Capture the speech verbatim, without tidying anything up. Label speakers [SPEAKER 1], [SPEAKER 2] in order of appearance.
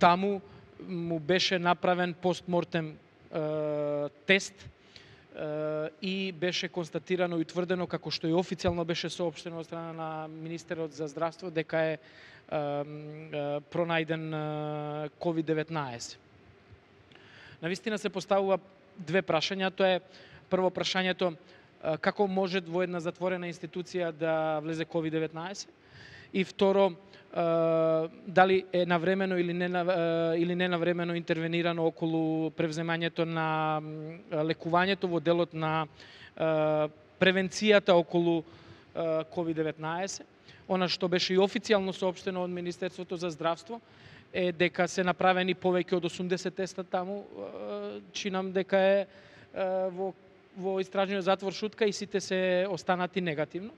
[SPEAKER 1] таму му беше направен постмортем тест и беше констатирано и утврдено, како што и официјално беше соопштено од страна на Министерот за здравство, дека е пронајден ковид деветнаесет. Навистина се поставува две прашања. Тоа е прво прашањето како може во една затворена институција да влезе ковид деветнаесет и второ дали е навремено или не или не навремено интервенирано околу превземањето на лекувањето во делот на превенцијата околу ковид деветнаесет. Она што беше и официјално соопштено од Министерството за здравство е дека се направени повеќе од осумдесет теста таму, чинам дека е во во истражниот затвор шутка и сите се останати негативно.